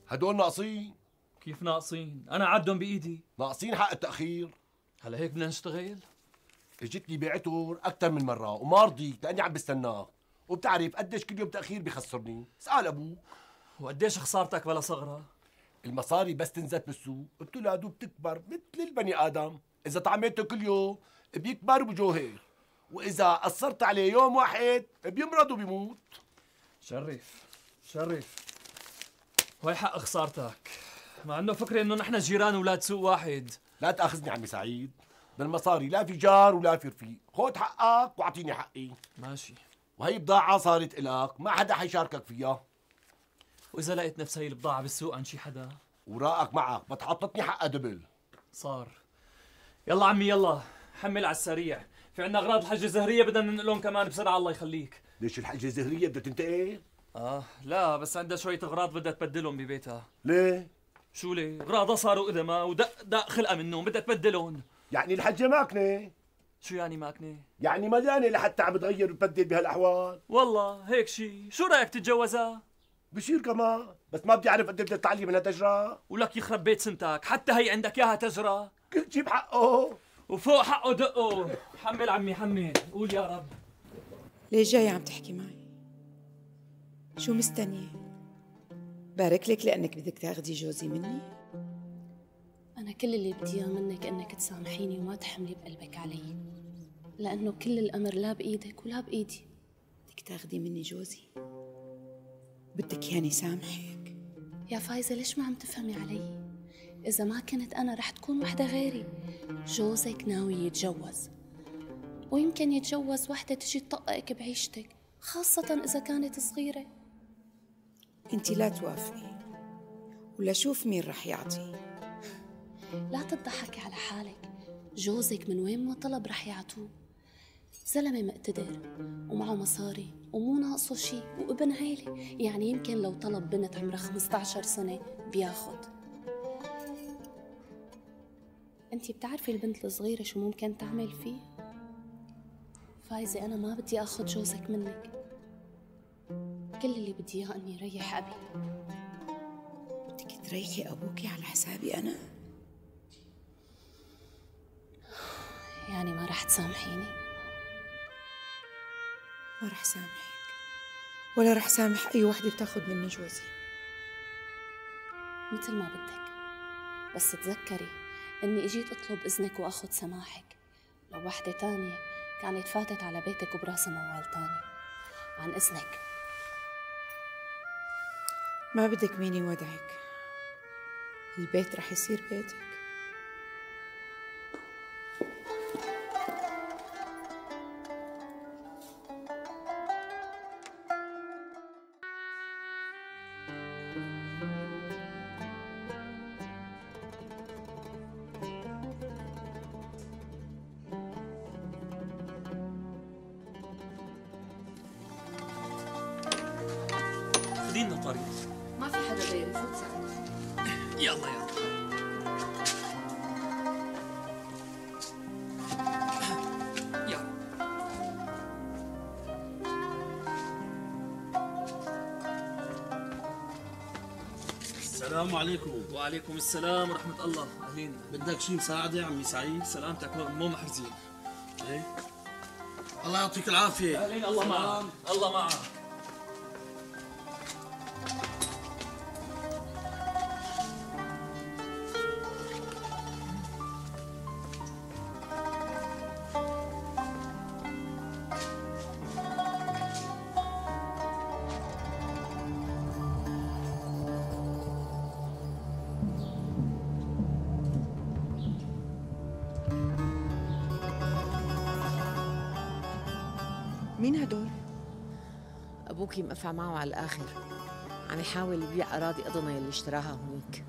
هدول ناقصين. كيف ناقصين؟ أنا عدهم بإيدي. ناقصين حق التأخير. هلا هيك بدنا نشتغل؟ اجتني بعتر أكثر من مرة وما رضيت لأني عم بستناك، وبتعرف قديش كل يوم تأخير بخسرني، اسأل أبوك. وقديش خسارتك بلا صغرى؟ المصاري بس تنزل بالسوق بتولد وبتكبر مثل البني آدم، إذا طعميته كل يوم بيكبر وبجوهر، وإذا قصرت عليه يوم واحد بيمرض وبيموت. شرف وهي حق خسارتك، مع انه فكري انه نحن جيران ولاد سوق واحد. لا تأخذني عمي سعيد، بالمصاري لا في جار ولا في رفيق، خذ حقك واعطيني حقي. ماشي. وهي بضاعة صارت إلك، ما حدا حيشاركك فيها. وإذا لقيت نفس هي البضاعة بالسوق عن شي حدا؟ وراءك معك، بتحطتني حقها دبل. صار. يلا عمي يلا، حمل على السريع، في عنا أغراض الحجة الزهرية بدنا ننقلهم كمان بسرعة الله يخليك. ليش الحجة الزهرية بدها تنتقل؟ لا بس عندها شوية أغراض بدها تبدلهم ببيتها. ليه؟ شو ليه؟ أغراضها صاروا قدما ودق خلقها منهم بدها تبدلهم. يعني الحجة ماكنة؟ شو يعني ماكنة؟ يعني مليانة لحتى عم تغير وتبدل بهالأحوال. والله هيك شي، شو رأيك تتجوزها؟ بشير كمان، بس ما بدي أعرف قد بدها تتعلم منها تجرى. ولك يخرب بيت سنتك، حتى هي عندك إياها تجرى. كل شي بحقه. وفوق حقه دقه. حمل عمي حمل، قول يا رب. ليش جاي عم تحكي معي؟ شو مستنية؟ بارك لك لأنك بدك تاخدي جوزي مني؟ أنا كل اللي بدي إياه منك إنك تسامحيني وما تحملي بقلبك علي، لأنه كل الأمر لا بإيدك ولا بإيدي. بدك تاخدي مني جوزي؟ بدك يعني سامحك؟ يا فايزة ليش ما عم تفهمي علي؟ إذا ما كنت أنا رح تكون وحدة غيري. جوزك ناوي يتجوز، ويمكن يتجوز وحدة تجي تطققك بعيشتك، خاصة إذا كانت صغيرة. انتي لا توافقي ولا شوف مين رح يعطي. لا تضحكي على حالك، جوزك من وين ما طلب رح يعطوه. زلمة مقتدر ومعه مصاري ومو ناقصه شي وابن عيلة، يعني يمكن لو طلب بنت عمرها 15 سنة بياخد. انتي بتعرفي البنت الصغيرة شو ممكن تعمل فيه؟ فايزة أنا ما بدي أخذ جوزك منك، كل اللي بدي إياه إني ريح أبي. بدك تريحي أبوكي على حسابي أنا؟ يعني ما رح تسامحيني؟ ما رح سامحك ولا رح سامح أي وحدة بتاخد مني جوزي. مثل ما بدك، بس تذكري إني إجيت أطلب إذنك وأخذ سماحك. لو وحدة تانية كانت فاتت على بيتك وبراسها موال تاني. عن إذنك. ما بدك مين يودعك، البيت رح يصير بيتك. خدينا طريق. ما في حدا غيري، فوت ساعدني. يلا يلا. السلام عليكم. وعليكم السلام ورحمة الله. أهلين. بدك شي مساعدة يا عمي سعيد؟ سلامتك مو محرزين. ايه الله يعطيك العافية. أهلين. الله معك. الله معك. مين هدول؟ أبوكي مقفع معه على الآخر، عم يحاول يبيع أراضي أضنا اللي اشتراها هونيك.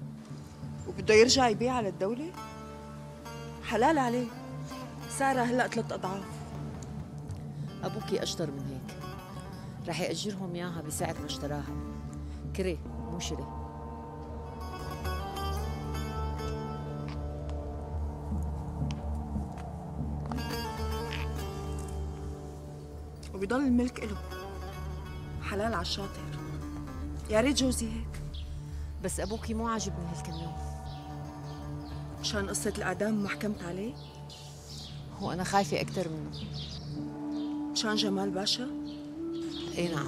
وبده يرجع يبيع على الدولة؟ حلال عليه، سعرها هلأ 3 أضعاف. أبوكي أشطر من هيك، رح يأجرهم إياها بسعر ما اشتراها، كري مو شري. وبيضل الملك إله، حلال على الشاطر. يا ريت جوزي هيك. بس أبوكي مو عاجبني هالكمية. مشان قصة الإعدام ما حكمت عليه؟ وأنا خايفة أكتر منه. مشان جمال باشا؟ إيه نعم.